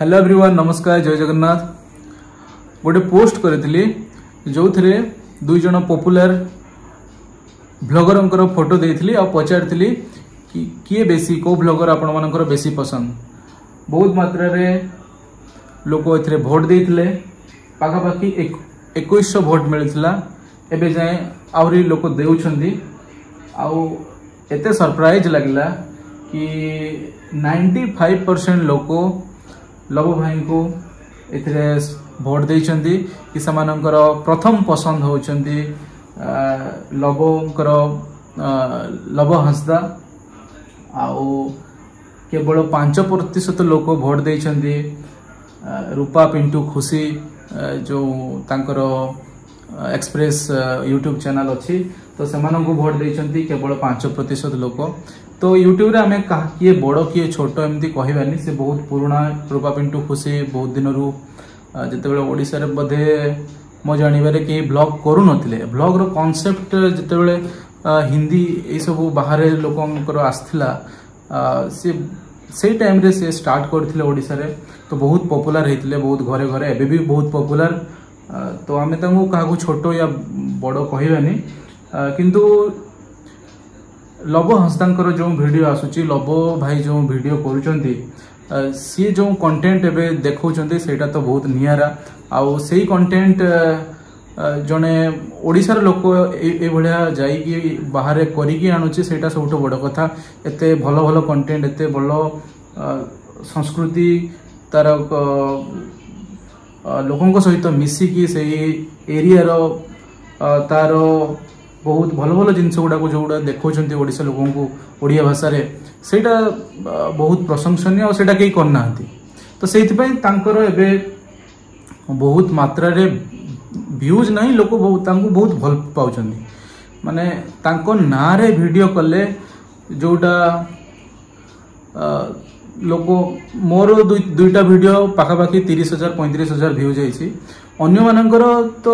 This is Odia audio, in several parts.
ହ୍ୟାଲୋ ଏଭ୍ରିୱାନ୍, ନମସ୍କାର, ଜୟ ଜଗନ୍ନାଥ। ଗୋଟେ ପୋଷ୍ଟ କରିଥିଲି ଯେଉଁଥିରେ ଦୁଇ ଜଣ ପପୁଲାର ଭ୍ଲଗରଙ୍କର ଫଟୋ ଦେଇଥିଲି ଆଉ ପଚାରିଥିଲି କି କିଏ ବେଶୀ, କେଉଁ ଭ୍ଲଗର ଆପଣମାନଙ୍କର ବେଶୀ ପସନ୍ଦ। ବହୁତ ମାତ୍ରାରେ ଲୋକ ଏଥିରେ ଭୋଟ ଦେଇଥିଲେ, ପାଖାପାଖି 2100 ଭୋଟ ମିଳିଥିଲା। ଏବେ ଯାଏଁ ଆହୁରି ଲୋକ ଦେଉଛନ୍ତି। ଆଉ ଏତେ ସରପ୍ରାଇଜ୍ ଲାଗିଲା କି 95% ଲୋକ ଲବ ଭାଇଙ୍କୁ ଏଥିରେ ଭୋଟ ଦେଇଛନ୍ତି କି ସେମାନଙ୍କର ପ୍ରଥମ ପସନ୍ଦ ହେଉଛନ୍ତି ଲବଙ୍କର ଲବ ହାଁସଦା। ଆଉ କେବଳ 5% ଲୋକ ଭୋଟ ଦେଇଛନ୍ତି ରୂପା ପିଣ୍ଟୁ ଖୁସି, ଯେଉଁ ତାଙ୍କର ଏକ୍ସପ୍ରେସ୍ ୟୁଟ୍ୟୁବ୍ ଚ୍ୟାନେଲ୍ ଅଛି, ତ ସେମାନଙ୍କୁ ଭୋଟ ଦେଇଛନ୍ତି କେବଳ 5% ଲୋକ। ତ ୟୁଟ୍ୟୁବରେ ଆମେ କିଏ ବଡ଼ କିଏ ଛୋଟ ଏମିତି କହିବାନି। ସେ ବହୁତ ପୁରୁଣା ରୂପା ପିଣ୍ଟୁ ଖୁସି, ବହୁତ ଦିନରୁ, ଯେତେବେଳେ ଓଡ଼ିଶାରେ ବୋଧେ ମୋ ଜାଣିବାରେ କେହି ବ୍ଲଗ୍ କରୁନଥିଲେ, ବ୍ଲଗ୍ର କନସେପ୍ଟ ଯେତେବେଳେ ହିନ୍ଦୀ ଏଇସବୁ ବାହାରେ ଲୋକଙ୍କର ଆସିଥିଲା, ସେ ସେଇ ଟାଇମ୍ରେ ସେ ଷ୍ଟାର୍ଟ କରିଥିଲେ ଓଡ଼ିଶାରେ। ତ ବହୁତ ପପୁଲାର ହେଇଥିଲେ, ବହୁତ ଘରେ ଘରେ, ଏବେ ବି ବହୁତ ପପୁଲାର। ତ ଆମେ ତାଙ୍କୁ କାହାକୁ ଛୋଟ ୟା ବଡ଼ କହିବାନି। କିନ୍ତୁ ଲବ ହାଁସଦାଙ୍କର ଯେଉଁ ଭିଡ଼ିଓ ଆସୁଛି, ଲବ ଭାଇ ଯେଉଁ ଭିଡ଼ିଓ କରୁଛନ୍ତି, ସିଏ ଯେଉଁ କଣ୍ଟେଣ୍ଟ ଏବେ ଦେଖାଉଛନ୍ତି, ସେଇଟା ତ ବହୁତ ନିଆରା। ଆଉ ସେଇ କଣ୍ଟେଣ୍ଟ ଜଣେ ଓଡ଼ିଶାର ଲୋକ ଏଇଭଳିଆ ଯାଇକି ବାହାରେ କରିକି ଆଣୁଛି, ସେଇଟା ସବୁଠୁ ବଡ଼ କଥା। ଏତେ ଭଲ ଭଲ କଣ୍ଟେଣ୍ଟ, ଏତେ ଭଲ ସଂସ୍କୃତି, ତାର ଲୋକଙ୍କ ସହିତ ମିଶିକି ସେଇ ଏରିଆର ତାର ବହୁତ ଭଲ ଭଲ ଜିନିଷ ଗୁଡ଼ାକୁ ଯେଉଁଗୁଡ଼ା ଦେଖାଉଛନ୍ତି ଓଡ଼ିଶା ଲୋକଙ୍କୁ ଓଡ଼ିଆ ଭାଷାରେ, ସେଇଟା ବହୁତ ପ୍ରଶଂସନୀୟ ଆଉ ସେଇଟା କେହି କରିନାହାନ୍ତି। ତ ସେଇଥିପାଇଁ ତାଙ୍କର ଏବେ ବହୁତ ମାତ୍ରାରେ ଭ୍ୟୁଜ୍ ନାହିଁ, ଲୋକ ତାଙ୍କୁ ବହୁତ ଭଲ ପାଉଛନ୍ତି। ମାନେ ତାଙ୍କ ନାଁରେ ଭିଡ଼ିଓ କଲେ ଯେଉଁଟା ଲୋକ, ମୋର ଦୁଇଟା ଭିଡ଼ିଓ ପାଖାପାଖି 30,000 35,000 ଭ୍ୟୁ ଯାଇଛି। ଅନ୍ୟମାନଙ୍କର ତ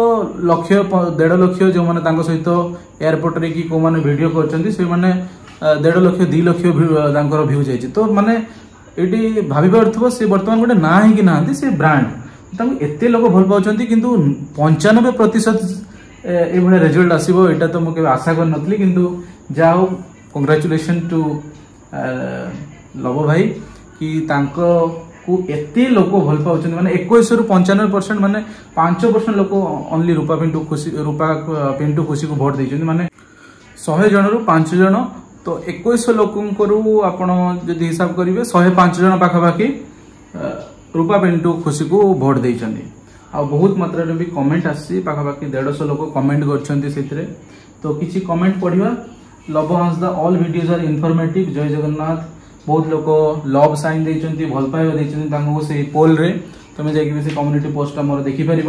ଲକ୍ଷ 1.5 ଲକ୍ଷ, ଯେଉଁମାନେ ତାଙ୍କ ସହିତ ଏୟାରପୋର୍ଟରେ କି କେଉଁମାନେ ଭିଡ଼ିଓ କରିଛନ୍ତି, ସେମାନେ 1.5 ଲକ୍ଷ 2 ଲକ୍ଷ ତାଙ୍କର ଭ୍ୟୁ ଯାଇଛି। ତ ମାନେ ଏଇଠି ଭାବି ପାରୁଥିବ, ସେ ବର୍ତ୍ତମାନ ଗୋଟେ ନାଁ ହେଇକି ନାହାନ୍ତି, ସେ ବ୍ରାଣ୍ଡ, ତାଙ୍କୁ ଏତେ ଲୋକ ଭଲ ପାଉଛନ୍ତି। କିନ୍ତୁ 95% ଏଇଭଳିଆ ରେଜଲ୍ଟ ଆସିବ ଏଇଟା ତ ମୁଁ କେବେ ଆଶା କରିନଥିଲି। କିନ୍ତୁ ଯାହା ହଉ, କଂଗ୍ରାଚୁଲେସନ୍ ଟୁ ଲବ ଭାଇ କି ତାଙ୍କକୁ ଏତେ ଲୋକ ଭଲ ପାଉଛନ୍ତି। ମାନେ 21ରୁ 95%, ମାନେ 5% ଲୋକ ଅନଲି ରୂପା ପିଣ୍ଟୁ ଖୁସି, ରୂପା ପିଣ୍ଟୁ ଖୁସିକୁ ଭୋଟ ଦେଇଛନ୍ତି। ମାନେ 100 ଜଣରୁ 5 ଜଣ। ତ 2100 ଲୋକଙ୍କରୁ ଆପଣ ଯଦି ହିସାବ କରିବେ, 105 ଜଣ ପାଖାପାଖି ରୂପା ପିଣ୍ଟୁ ଖୁସିକୁ ଭୋଟ ଦେଇଛନ୍ତି। ଆଉ ବହୁତ ମାତ୍ରାରେ ବି କମେଣ୍ଟ ଆସିଛି, ପାଖାପାଖି 150 ଲୋକ କମେଣ୍ଟ କରିଛନ୍ତି ସେଥିରେ। ତ କିଛି କମେଣ୍ଟ ପଢିବା। Laba Hansda, all videos are informative, ଜୟ ଜଗନ୍ନାଥ। ବହୁତ ଲୋକ ଲଭ୍ ସାଇନ୍ ଦେଇଛନ୍ତି, ଭଲ ପାଇବା ଦେଇଛନ୍ତି ତାଙ୍କୁ ସେଇ ପୋଲ୍ରେ। ତମେ ଯାଇକି ବି ସେ କମ୍ୟୁନିଟି ପୋଷ୍ଟଟା ମୋର ଦେଖିପାରିବ।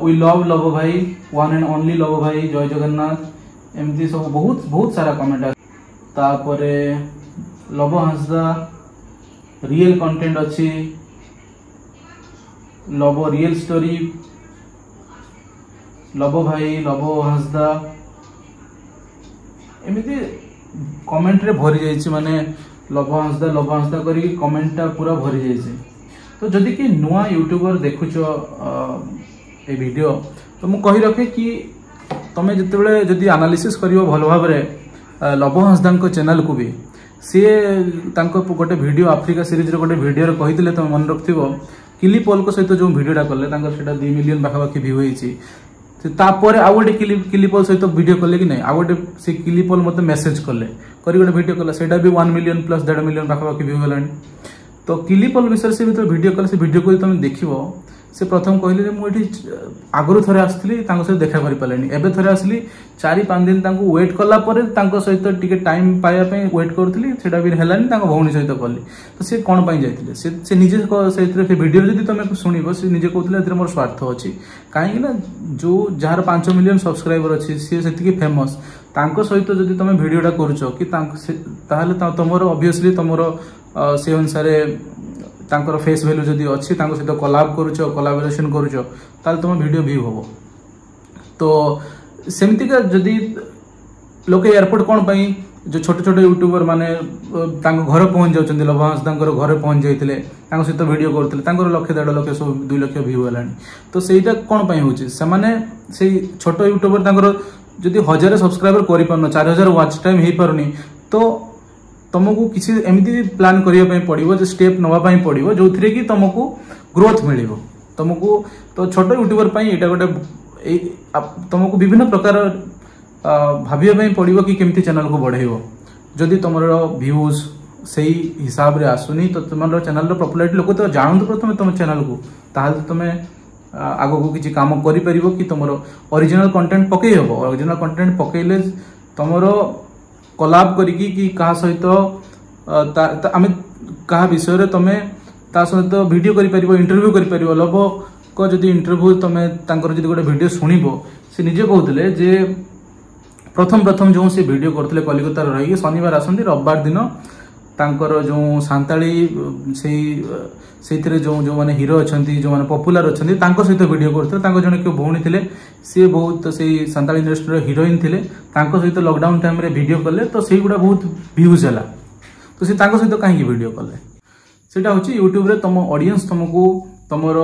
We love ଲବ ଭାଇ, ୱାନ୍ ଆଣ୍ଡ ଅନଲି ଲବ ଭାଇ, ଜୟ ଜଗନ୍ନାଥ। ଏମିତି ସବୁ ବହୁତ ବହୁତ ସାରା କମେଣ୍ଟ। ତାପରେ ଲବ ହାଁସଦା ରିଏଲ କଣ୍ଟେଣ୍ଟ ଅଛି, ଲବ ରିଏଲ ଷ୍ଟୋରି, ଲବ ଭାଇ, ଲବ ହାଁସଦା, ଏମିତି କମେଣ୍ଟରେ ଭରି ଯାଇଛି। ମାନେ ଲବ ହାଁସଦା ଲବ ହାଁସଦା କରିକି କମେଣ୍ଟଟା ପୁରା ଭରି ଯାଇଛି। ତ ଯଦି କି ନୂଆ ୟୁଟ୍ୟୁବର ଦେଖୁଛ ଏ ଭିଡ଼ିଓ, ତ ମୁଁ କହି ରଖେ କି ତମେ ଯେତେବେଳେ ଯଦି ଆନାଲିସିସ୍ କରିବ ଭଲ ଭାବରେ ଲବ ହାଁସଦାଙ୍କ ଚ୍ୟାନେଲକୁ ବି, ସିଏ ତାଙ୍କ ଗୋଟେ ଭିଡ଼ିଓ, ଆଫ୍ରିକା ସିରିଜର ଗୋଟେ ଭିଡ଼ିଓରେ କହିଥିଲେ, ତମେ ମନେ ରଖିଥିବ, କିଲି ପଲଙ୍କ ସହିତ ଯେଉଁ ଭିଡ଼ିଓଟା କଲେ, ତାଙ୍କର ସେଇଟା 2 ମିଲିୟନ ପାଖାପାଖି ଭ୍ୟୁ ହେଇଛି। ସେ ତାପରେ ଆଉ ଗୋଟେ କିଲିପଲ ସହିତ ଭିଡ଼ିଓ କଲେ କି ନାହିଁ, ଆଉ ଗୋଟେ ସେ କିଲିପଲ ମୋତେ ମେସେଜ କଲେ କରି ଗୋଟେ ଭିଡ଼ିଓ କଲା, ସେଇଟା ବି 1 ମିଲିୟନ ପ୍ଲସ୍, 1.5 ମିଲିୟନ ପାଖାପାଖି ଭ୍ୟୁ ହେଲାଣି। ତ କିଲିପଲ ବିଷୟରେ ସେ ଯେତେବେଳେ ଭିଡ଼ିଓ କଲେ, ସେ ଭିଡ଼ିଓକୁ ଯଦି ତମେ ଦେଖିବ, ସେ ପ୍ରଥମ କହିଲେ ଯେ ମୁଁ ଏଠି ଆଗରୁ ଥରେ ଆସିଥିଲି, ତାଙ୍କ ସହିତ ଦେଖା କରିପାରିଲିନି, ଏବେ ଥରେ ଆସିଲି, 4-5 ଦିନ ତାଙ୍କୁ ୱେଟ୍ କଲା ପରେ ତାଙ୍କ ସହିତ ଟିକେ ଟାଇମ୍ ପାଇବା ପାଇଁ ୱେଟ୍ କରୁଥିଲି, ସେଇଟା ବି ହେଲାନି, ତାଙ୍କ ଭଉଣୀ ସହିତ କଲି। ତ ସେ କ'ଣ ପାଇଁ ଯାଇଥିଲେ? ସେ ନିଜେ ସେଇଥିରେ ସେ ଭିଡ଼ିଓରେ ଯଦି ତମେ ଶୁଣିବ, ସେ ନିଜେ କହୁଥିଲେ ଏଥିରେ ମୋର ସ୍ୱାର୍ଥ ଅଛି। କାହିଁକି ନା ଯୋଉ ଯାହାର 5 ମିଲିୟନ ସବସ୍କ୍ରାଇବର ଅଛି, ସିଏ ସେତିକି ଫେମସ୍, ତାଙ୍କ ସହିତ ଯଦି ତମେ ଭିଡ଼ିଓଟା କରୁଛ କି ତାଙ୍କ, ତାହେଲେ ତମର ଅବଭିୟସଲି ତମର ସେ ଅନୁସାରେ ତାଙ୍କର ଫେସ୍ ଭ୍ୟାଲୁ ଯଦି ଅଛି, ତାଙ୍କ ସହିତ କଲାବ କରୁଛ, କଲାବରେସନ କରୁଛ, ତାହେଲେ ତମ ଭିଡ଼ିଓ ଭ୍ୟୁ ହବ। ତ ସେମିତିକା ଯଦି ଲୋକେ ଏୟାରପୋର୍ଟ କ'ଣ ପାଇଁ, ଯେଉଁ ଛୋଟ ଛୋଟ ୟୁଟ୍ୟୁବର ମାନେ ତାଙ୍କ ଘରେ ପହଞ୍ଚି ଯାଉଛନ୍ତି, ଲବ ହାଁସଦାଙ୍କର ଘରେ ପହଞ୍ଚି ଯାଇଥିଲେ, ତାଙ୍କ ସହିତ ଭିଡ଼ିଓ କରୁଥିଲେ, ତାଙ୍କର ଲକ୍ଷେ ଦେଢ଼ ଲକ୍ଷ ସବୁ 2 ଲକ୍ଷ ଭ୍ୟୁ ହେଲାଣି। ତ ସେଇଟା କ'ଣ ପାଇଁ ହେଉଛି? ସେମାନେ ସେଇ ଛୋଟ ୟୁଟ୍ୟୁବର ତାଙ୍କର ଯଦି 1000 ସବସ୍କ୍ରାଇବର କରିପାରୁନ, 4000 ୱାଚ୍ ଟାଇମ୍ ହେଇପାରୁନି, ତ ତମକୁ କିଛି ଏମିତି ପ୍ଲାନ୍ କରିବା ପାଇଁ ପଡ଼ିବ ଯେ ଷ୍ଟେପ୍ ନେବା ପାଇଁ ପଡ଼ିବ ଯେଉଁଥିରେ କି ତମକୁ ଗ୍ରୋଥ୍ ମିଳିବ ତମକୁ। ତ ଛୋଟ ୟୁଟ୍ୟୁବର ପାଇଁ ଏଇଟା ଗୋଟେ ଏଇ ତମକୁ ବିଭିନ୍ନ ପ୍ରକାର ଭାବିବା ପାଇଁ ପଡ଼ିବ କି କେମିତି ଚ୍ୟାନେଲକୁ ବଢ଼େଇବ। ଯଦି ତମର ଭ୍ୟୁଜ୍ ସେଇ ହିସାବରେ ଆସୁନି, ତ ତୁମର ଚ୍ୟାନେଲର ପପୁଲାରିଟି ଲୋକ ତ ଜାଣନ୍ତୁ ପ୍ରଥମେ ତମ ଚ୍ୟାନେଲକୁ, ତାହେଲେ ତମେ ଆଗକୁ କିଛି କାମ କରିପାରିବ କି ତମର ଅରିଜିନାଲ କଣ୍ଟେଣ୍ଟ ପକେଇ ହେବ। ଅରିଜିନାଲ କଣ୍ଟେଣ୍ଟ ପକେଇଲେ ତମର କଲାବ କରିକି କି କାହା ସହିତ ଆମେ କାହା ବିଷୟରେ ତମେ ତା ସହିତ ଭିଡ଼ିଓ କରିପାରିବ, ଇଣ୍ଟରଭ୍ୟୁ କରିପାରିବ। ଲବଙ୍କ ଯଦି ଇଣ୍ଟରଭ୍ୟୁ ତମେ ତାଙ୍କର ଯଦି ଗୋଟେ ଭିଡ଼ିଓ ଶୁଣିବ, ସେ ନିଜେ କହୁଥିଲେ ଯେ ପ୍ରଥମ ପ୍ରଥମ ଯେଉଁ ସେ ଭିଡ଼ିଓ କରୁଥିଲେ କଲିକତାରେ ରହିକି, ଶନିବାର ଆସନ୍ତି, ରବିବାର ଦିନ ତାଙ୍କର ଯେଉଁ ସାନ୍ତାଳୀ ସେଇ ସେଇଥିରେ ଯେଉଁ ଯେଉଁମାନେ ହିରୋ ଅଛନ୍ତି, ଯେଉଁମାନେ ପପୁଲାର ଅଛନ୍ତି, ତାଙ୍କ ସହିତ ଭିଡ଼ିଓ କରୁଥିଲେ। ତାଙ୍କ ଜଣେ କେଉଁ ଭଉଣୀ ଥିଲେ, ସିଏ ବହୁତ ସେଇ ସାନ୍ତାଳୀ ଇଣ୍ଡଷ୍ଟ୍ରିର ହିରୋଇନ୍ ଥିଲେ, ତାଙ୍କ ସହିତ ଲକଡାଉନ ଟାଇମ୍ରେ ଭିଡ଼ିଓ କଲେ, ତ ସେଇଗୁଡ଼ା ବହୁତ ଭ୍ୟୁଜ୍ ହେଲା। ତ ସେ ତାଙ୍କ ସହିତ କାହିଁକି ଭିଡ଼ିଓ କଲେ? ସେଇଟା ହେଉଛି ୟୁଟ୍ୟୁବରେ ତମ ଅଡ଼ିଏନ୍ସ ତମକୁ ତମର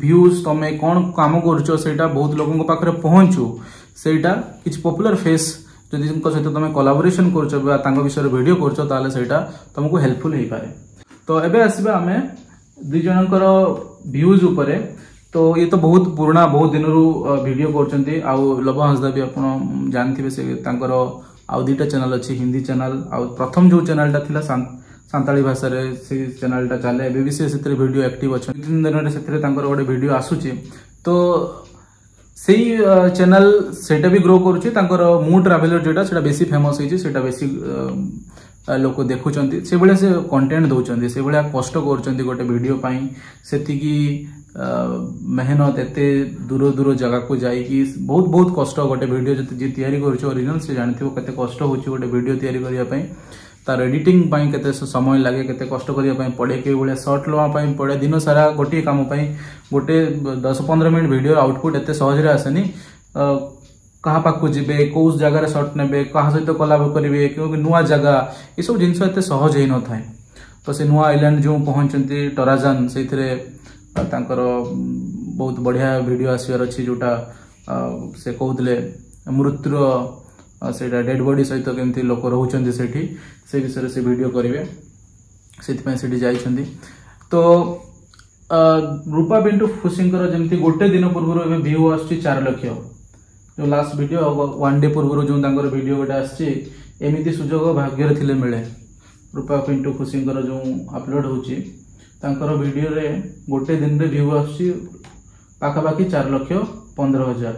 ଭ୍ୟୁଜ୍, ତମେ କ'ଣ କାମ କରୁଛ ସେଇଟା ବହୁତ ଲୋକଙ୍କ ପାଖରେ ପହଞ୍ଚୁ, ସେଇଟା କିଛି ପପୁଲାର ଫେସ୍ ଯଦିଙ୍କ ସହିତ ତମେ କୋଲାବୋରେସନ୍ କରୁଛ ବା ତାଙ୍କ ବିଷୟରେ ଭିଡ଼ିଓ କରୁଛ, ତାହେଲେ ସେଇଟା ତମକୁ ହେଲ୍ପଫୁଲ୍ ହେଇପାରେ। ତ ଏବେ ଆସିବା ଆମେ ଦୁଇ ଜଣଙ୍କର ଭ୍ୟୁଜ୍ ଉପରେ। ତ ଇଏ ତ ବହୁତ ପୁରୁଣା, ବହୁତ ଦିନରୁ ଭିଡ଼ିଓ କରୁଛନ୍ତି। ଆଉ ଲବ ହାଁସଦା ବି ଆପଣ ଜାଣିଥିବେ, ସେ ତାଙ୍କର ଆଉ 2ଟା ଚ୍ୟାନେଲ ଅଛି, ହିନ୍ଦୀ ଚ୍ୟାନେଲ, ଆଉ ପ୍ରଥମ ଯେଉଁ ଚ୍ୟାନେଲଟା ଥିଲା ସାନ୍ତାଳୀ ଭାଷାରେ, ସେ ଚ୍ୟାନେଲଟା ଚାଲେ ଏବେ ବି, ସେ ସେଥିରେ ଭିଡ଼ିଓ ଆକ୍ଟିଭ ଅଛନ୍ତି। 2-3 ଦିନରେ ସେଥିରେ ତାଙ୍କର ଗୋଟେ ଭିଡ଼ିଓ ଆସୁଛି। ତ ସେଇ ଚ୍ୟାନେଲ ସେଇଟା ବି ଗ୍ରୋ କରୁଛି। ତାଙ୍କର ମୁଁ ଟ୍ରାଭେଲର ଯେଉଁଟା, ସେଇଟା ବେଶୀ ଫେମସ୍ ହେଇଛି, ସେଇଟା ବେଶୀ ଲୋକ ଦେଖୁଛନ୍ତି। ସେଭଳିଆ ସେ କଣ୍ଟେଣ୍ଟ ଦେଉଛନ୍ତି, ସେଭଳିଆ କଷ୍ଟ କରୁଛନ୍ତି ଗୋଟେ ଭିଡ଼ିଓ ପାଇଁ, ସେତିକି ମେହନତ, ଏତେ ଦୂର ଦୂର ଜାଗାକୁ ଯାଇକି ବହୁତ ବହୁତ କଷ୍ଟ। ଗୋଟେ ଭିଡ଼ିଓ ଯଦି ଯିଏ ତିଆରି କରୁଛି ଅରିଜିନାଲ, ସେ ଜାଣିଥିବ କେତେ କଷ୍ଟ ହେଉଛି ଗୋଟେ ଭିଡ଼ିଓ ତିଆରି କରିବା ପାଇଁ, ତାର ଏଡିଟିଂ ପାଇଁ କେତେ ସମୟ ଲାଗେ, କେତେ କଷ୍ଟ କରିବା ପାଇଁ ପଡ଼େ, କେଉଁ ଭଳିଆ ସର୍ଟ ନେବା ପାଇଁ ପଡ଼େ। ଦିନ ସାରା ଗୋଟିଏ କାମ ପାଇଁ ଗୋଟେ 10-15 ମିନିଟ୍ ଭିଡ଼ିଓ ଆଉଟପୁଟ୍ ଏତେ ସହଜରେ ଆସେନି। କାହା ପାଖକୁ ଯିବେ, କେଉଁ ଜାଗାରେ ସର୍ଟ ନେବେ, କାହା ସହିତ କଲାବ କରିବେ, କେଉଁ ନୂଆ ଜାଗା, ଏସବୁ ଜିନିଷ ଏତେ ସହଜ ହେଇନଥାଏ। ତ ସେ ନୂଆ ଆଇଲ୍ୟାଣ୍ଡ ଯେଉଁ ପହଞ୍ଚନ୍ତି ଟରାଜାନ, ସେଇଥିରେ ତାଙ୍କର ବହୁତ ବଢ଼ିଆ ଭିଡ଼ିଓ ଆସିବାର ଅଛି, ଯେଉଁଟା ସେ କହୁଥିଲେ ମୃତ୍ୟୁର ସେଇଟା ଡେଡ୍ ବଡି ସହିତ କେମିତି ଲୋକ ରହୁଛନ୍ତି ସେଠି, ସେ ବିଷୟରେ ସେ ଭିଡ଼ିଓ କରିବେ, ସେଥିପାଇଁ ସେଠି ଯାଇଛନ୍ତି। ତ ରୂପା ପିଣ୍ଟୁ ଖୁସିଙ୍କର ଯେମିତି ଗୋଟେ ଦିନ ପୂର୍ବରୁ ଏବେ ଭ୍ୟୁ ଆସୁଛି 4 ଲକ୍ଷ, ଯେଉଁ ଲାଷ୍ଟ ଭିଡ଼ିଓ 1 ଡେ ପୂର୍ବରୁ ଯେଉଁ ତାଙ୍କର ଭିଡ଼ିଓ ଗୋଟେ ଆସିଛି, ଏମିତି ସୁଯୋଗ ଭାଗ୍ୟରେ ଥିଲେ ମିଳେ। ରୂପା ପିଣ୍ଟୁ ଖୁସିଙ୍କର ଯେଉଁ ଅପଲୋଡ଼ ହେଉଛି ତାଙ୍କର ଭିଡ଼ିଓରେ ଗୋଟେ ଦିନରେ ଭ୍ୟୁ ଆସୁଛି ପାଖାପାଖି 4,15,000,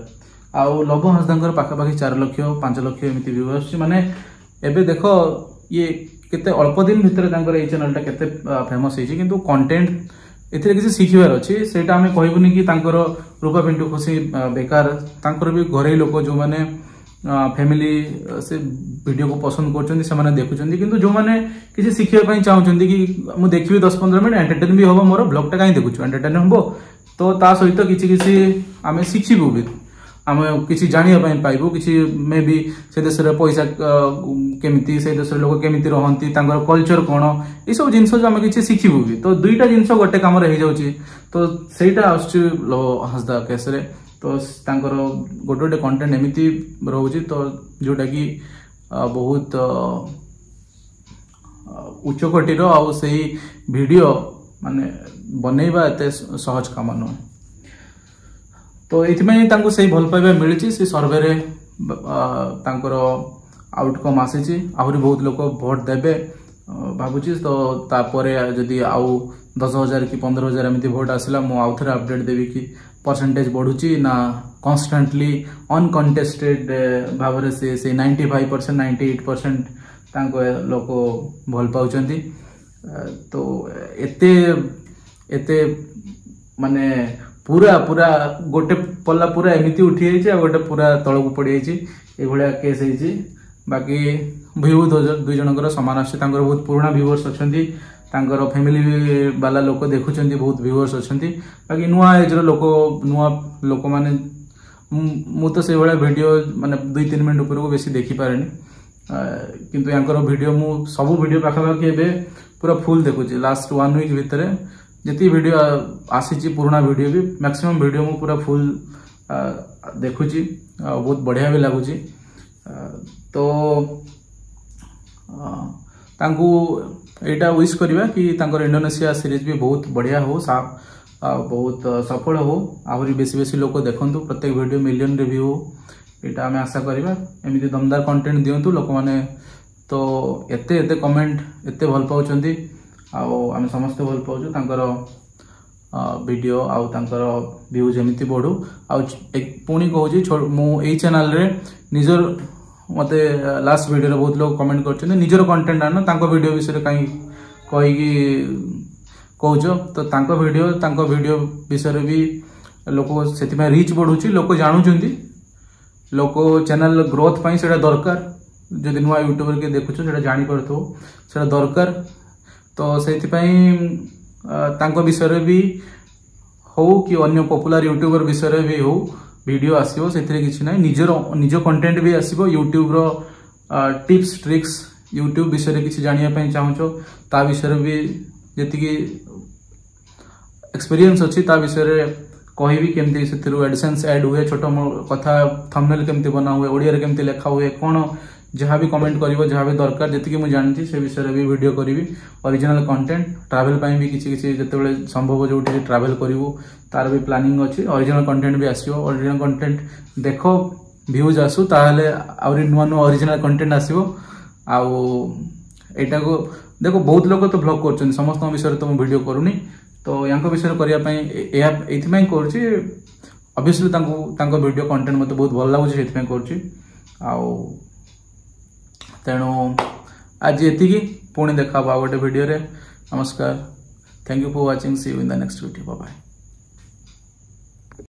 ଆଉ ଲବ ହାଁସଦାଙ୍କର ପାଖାପାଖି 4 ଲକ୍ଷ 5 ଲକ୍ଷ ଏମିତି ଭ୍ୟୁ ଆସୁଛି। ମାନେ ଏବେ ଦେଖ ଇଏ କେତେ ଅଳ୍ପ ଦିନ ଭିତରେ ତାଙ୍କର ଏଇ ଚ୍ୟାନେଲଟା କେତେ ଫେମସ୍ ହେଇଛି। କିନ୍ତୁ କଣ୍ଟେଣ୍ଟ ଏଥିରେ କିଛି ଶିଖିବାର ଅଛି, ସେଇଟା ଆମେ କହିବୁନି କି ତାଙ୍କର ରୂପା ପିଣ୍ଟୁ ଖୁସି ବେକାର। ତାଙ୍କର ବି ଘରୋଇ ଲୋକ ଯେଉଁମାନେ ଫ୍ୟାମିଲି ସେ ଭିଡ଼ିଓକୁ ପସନ୍ଦ କରୁଛନ୍ତି, ସେମାନେ ଦେଖୁଛନ୍ତି। କିନ୍ତୁ ଯେଉଁମାନେ କିଛି ଶିଖିବା ପାଇଁ ଚାହୁଁଛନ୍ତି କି ମୁଁ ଦେଖିବି 10-15 ମିନିଟ୍, ଏଣ୍ଟରଟେନ୍ ବି ହେବ ମୋର, ବ୍ଲଗ୍ଟା କାହିଁ ଦେଖୁଛୁ, ଏଣ୍ଟରଟେନ୍ ହେବ, ତ ତା ସହିତ କିଛି କିଛି ଆମେ ଶିଖିବୁ ବି, ଆମେ କିଛି ଜାଣିବା ପାଇଁ ପାଇବୁ, କିଛି ମେ ବି ସେ ଦେଶରେ ପଇସା କେମିତି, ସେ ଦେଶରେ ଲୋକ କେମିତି ରହନ୍ତି, ତାଙ୍କର କଲଚର କ'ଣ, ଏସବୁ ଜିନିଷ ଆମେ କିଛି ଶିଖିବୁ ବି। ତ ଦୁଇଟା ଜିନିଷ ଗୋଟେ କାମରେ ହେଇଯାଉଛି। ତ ସେଇଟା ଆସୁଛି ହାଁସଦା କେସ୍ରେ। ତ ତାଙ୍କର ଗୋଟେ ଗୋଟେ କଣ୍ଟେଣ୍ଟ ଏମିତି ରହୁଛି ତ ଯେଉଁଟାକି ବହୁତ ଉଚ୍ଚକୋଟୀର, ଆଉ ସେଇ ଭିଡ଼ିଓ ମାନେ ବନେଇବା ଏତେ ସହଜ କାମ ନୁହେଁ। ତ ଏଇଥିପାଇଁ ତାଙ୍କୁ ସେଇ ଭଲ ପାଇବା ମିଳିଛି, ସେ ସର୍ଭେରେ ତାଙ୍କର ଆଉଟକମ୍ ଆସିଛି। ଆହୁରି ବହୁତ ଲୋକ ଭୋଟ ଦେବେ ଭାବୁଛି। ତ ତାପରେ ଯଦି ଆଉ 10,000 କି 15,000 ଏମିତି ଭୋଟ ଆସିଲା, ମୁଁ ଆଉ ଥରେ ଅପଡେଟ୍ ଦେବି କି ପରସେଣ୍ଟେଜ ବଢ଼ୁଛି ନା କନଷ୍ଟାଣ୍ଟଲି ଅନକଣ୍ଟେଷ୍ଟେଡ୍ ଭାବରେ ସେ ସେଇ 95%, 98% ତାଙ୍କ ଲୋକ ଭଲ ପାଉଛନ୍ତି। ତ ଏତେ ଏତେ ମାନେ ପୁରା ପୁରା ଗୋଟେ ପଲ୍ଲା ପୁରା ଏମିତି ଉଠିଯାଇଛି ଆଉ ଗୋଟେ ପୁରା ତଳକୁ ପଡ଼ିଯାଇଛି, ଏଇଭଳିଆ କେସ୍ ହେଇଛି। ବାକି ଭ୍ୟୁ ଦୁଇ ଜଣଙ୍କର ସମାନ ଆସୁଛି। ତାଙ୍କର ବହୁତ ପୁରୁଣା ଭ୍ୟୁଅର୍ସ ଅଛନ୍ତି, ତାଙ୍କର ଫ୍ୟାମିଲି ବାଲା ଲୋକ ଦେଖୁଛନ୍ତି, ବହୁତ ଭ୍ୟୁଅର୍ସ ଅଛନ୍ତି। ବାକି ନୂଆ ଏଜ୍ର ଲୋକ, ନୂଆ ଲୋକମାନେ, ମୁଁ ତ ସେଇଭଳିଆ ଭିଡ଼ିଓ ମାନେ 2-3 ମିନିଟ୍ ଉପରକୁ ବେଶୀ ଦେଖିପାରେନି, କିନ୍ତୁ ୟାଙ୍କର ଭିଡ଼ିଓ ମୁଁ ସବୁ ଭିଡ଼ିଓ ପାଖାପାଖି ଏବେ ପୁରା ଫୁଲ୍ ଦେଖୁଛି। ଲାଷ୍ଟ 1 ୱିକ୍ ଭିତରେ ଯେତିକି ଭିଡ଼ିଓ ଆସିଛି, ପୁରୁଣା ଭିଡ଼ିଓ ବି, ମ୍ୟାକ୍ସିମମ୍ ଭିଡ଼ିଓ ମୁଁ ପୁରା ଫୁଲ୍ ଦେଖୁଛି ଆଉ ବହୁତ ବଢ଼ିଆ ବି ଲାଗୁଛି। ତ ତାଙ୍କୁ ଏଇଟା ୱିଶ୍ କରିବା କି ତାଙ୍କର ଇଣ୍ଡୋନେସିଆ ସିରିଜ୍ ବି ବହୁତ ବଢ଼ିଆ ହଉ, ଆଉ ବହୁତ ସଫଳ ହଉ, ଆହୁରି ବେଶୀ ବେଶୀ ଲୋକ ଦେଖନ୍ତୁ, ପ୍ରତ୍ୟେକ ଭିଡ଼ିଓ ମିଲିୟନରେ ଭ୍ୟୁ ହଉ, ଏଇଟା ଆମେ ଆଶା କରିବା। ଏମିତି ଦମଦାର କଣ୍ଟେଣ୍ଟ ଦିଅନ୍ତୁ। ଲୋକମାନେ ତ ଏତେ ଏତେ କମେଣ୍ଟ, ଏତେ ଭଲ ପାଉଛନ୍ତି, ଆଉ ଆମେ ସମସ୍ତେ ଭଲ ପାଉଛୁ ତାଙ୍କର ଭିଡ଼ିଓ, ଆଉ ତାଙ୍କର ଭ୍ୟୁ ଯେମିତି ବଢ଼ୁ। ଆଉ ପୁଣି କହୁଛି, ମୁଁ ଏଇ ଚ୍ୟାନେଲରେ ନିଜର, ମୋତେ ଲାଷ୍ଟ ଭିଡ଼ିଓରେ ବହୁତ ଲୋକ କମେଣ୍ଟ କରିଛନ୍ତି, ନିଜର କଣ୍ଟେଣ୍ଟ ଆଣ, ତାଙ୍କ ଭିଡ଼ିଓ ବିଷୟରେ କାହିଁ କହିକି କହୁଛ? ତ ତାଙ୍କ ଭିଡ଼ିଓ ବିଷୟରେ ବି ଲୋକ, ସେଥିପାଇଁ ରିଚ୍ ବଢ଼ୁଛି, ଲୋକ ଜାଣୁଛନ୍ତି। ଲୋକ ଚ୍ୟାନେଲ ଗ୍ରୋଥ ପାଇଁ ସେଇଟା ଦରକାର। ଯଦି ନୂଆ ୟୁଟ୍ୟୁବର କିଏ ଦେଖୁଛ, ସେଇଟା ଜାଣିପାରୁଥିବ, ସେଇଟା ଦରକାର। ତ ସେଇଥିପାଇଁ ତାଙ୍କ ବିଷୟରେ ବି ହଉ କି ଅନ୍ୟ ପପୁଲାର ୟୁଟ୍ୟୁବର ବିଷୟରେ ବି ହଉ, ଭିଡ଼ିଓ ଆସିବ, ସେଥିରେ କିଛି ନାହିଁ। ନିଜର ନିଜ କଣ୍ଟେଣ୍ଟ ବି ଆସିବ। ୟୁଟ୍ୟୁବର ଟିପ୍ସ ଟ୍ରିକ୍ସ, ୟୁଟ୍ୟୁବ ବିଷୟରେ କିଛି ଜାଣିବା ପାଇଁ ଚାହୁଁଛ, ତା ବିଷୟରେ ବି ଯେତିକି ଏକ୍ସପିରିଏନ୍ସ ଅଛି ତା ବିଷୟରେ କହିବି। କେମିତି ସେଥିରୁ ଆଡସେନ୍ସ ଆଡ୍ ହୁଏ, ଛୋଟ କଥା ଥମ୍ବନେଲ୍ କେମିତି ବନା ହୁଏ, ଓଡ଼ିଆରେ କେମିତି ଲେଖା ହୁଏ, କ'ଣ ଯାହା ବି କମେଣ୍ଟ କରିବ, ଯାହା ବି ଦରକାର, ଯେତିକି ମୁଁ ଜାଣିଛି ସେ ବିଷୟରେ ବି ଭିଡ଼ିଓ କରିବି। ଅରିଜିନାଲ କଣ୍ଟେଣ୍ଟ, ଟ୍ରାଭେଲ ପାଇଁ ବି କିଛି କିଛି ଯେତେବେଳେ ସମ୍ଭବ ଯୋଉଠି ଟ୍ରାଭେଲ କରିବୁ, ତାର ବି ପ୍ଲାନିଂ ଅଛି। ଅରିଜିନାଲ କଣ୍ଟେଣ୍ଟ ବି ଆସିବ। ଅରିଜିନାଲ କଣ୍ଟେଣ୍ଟ ଦେଖ, ଭ୍ୟୁଜ୍ ଆସୁ, ତାହେଲେ ଆହୁରି ନୂଆ ନୂଆ ଅରିଜିନାଲ କଣ୍ଟେଣ୍ଟ ଆସିବ। ଆଉ ଏଇଟାକୁ ଦେଖ, ବହୁତ ଲୋକ ତ ଭ୍ଲଗ୍ କରୁଛନ୍ତି, ସମସ୍ତଙ୍କ ବିଷୟରେ ତ ମୁଁ ଭିଡ଼ିଓ କରୁନି। ତ ୟାଙ୍କ ବିଷୟରେ କରିବା ପାଇଁ ଏହା ଏଇଥିପାଇଁ କରୁଛି, ଅବଭିୟସଲି ତାଙ୍କୁ ତାଙ୍କ ଭିଡ଼ିଓ କଣ୍ଟେଣ୍ଟ ମୋତେ ବହୁତ ଭଲ ଲାଗୁଛି, ସେଥିପାଇଁ କରୁଛି। ଆଉ ତେଣୁ ଆଜି ଏତିକି, ପୁଣି ଦେଖା ହବ ଆଉ ଗୋଟେ ଭିଡ଼ିଓରେ। ନମସ୍କାର, thank you for watching, see you in the next video, bye.